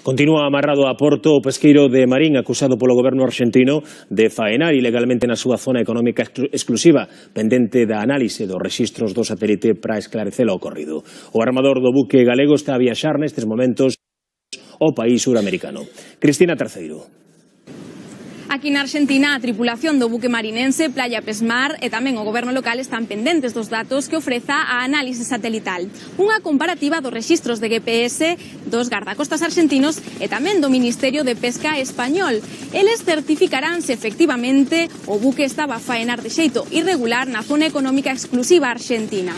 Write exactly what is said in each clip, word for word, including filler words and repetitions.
Continúa amarrado a Porto o pesqueiro de Marín acusado polo goberno arxentino de faenar ilegalmente na súa zona económica exclusiva, pendente da análise dos rexistros do satélite para esclarecer o ocorrido. O armador do buque galego está a viaxar nestes momentos ao país suramericano. Cristina Terceiro. Aquí na Argentina, a tripulación do buque marinense Playa Pesmar e tamén o goberno local están pendentes dos datos que ofreza a análise satelital. Unha comparativa dos rexistros de G P S dos gardacostas argentinos e tamén do Ministerio de Pesca español. Eles certificarán se efectivamente o buque estaba a faenar de xeito irregular na zona económica exclusiva argentina.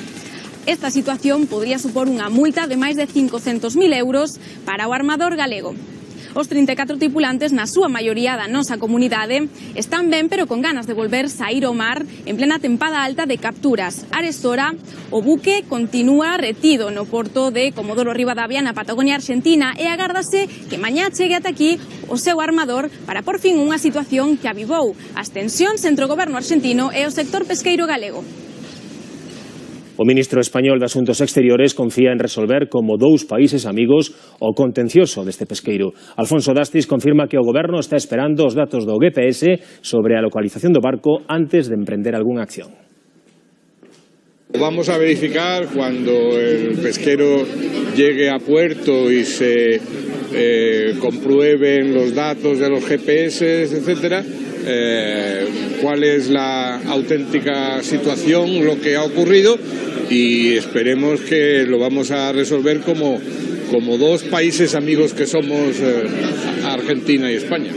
Esta situación podría supor unha multa de máis de cincocentos mil euros para o armador galego. Os trinta e catro tripulantes, na súa maioría da nosa comunidade, están ben pero con ganas de volver saír ao mar en plena tempada alta de capturas. Arestora, o buque continúa retido no porto de Comodoro Rivadavia na Patagonia Argentina e agárdase que mañá chegue ata aquí o seu armador para por fin unha situación que avivou as tensións entre o goberno argentino e o sector pesqueiro galego. O ministro español de Asuntos Exteriores confía en resolver como dous países amigos o contencioso deste pesqueiro. Alfonso Dastis confirma que o goberno está esperando os datos do G P S sobre a localización do barco antes de emprender algunha acción. Vamos a verificar cuando el pesquero llegue a puerto y se eh, comprueben los datos de los G P S, etcétera, eh, cuál es la auténtica situación, lo que ha ocurrido, y esperemos que lo vamos a resolver como, como dos países amigos que somos, eh, Argentina y España.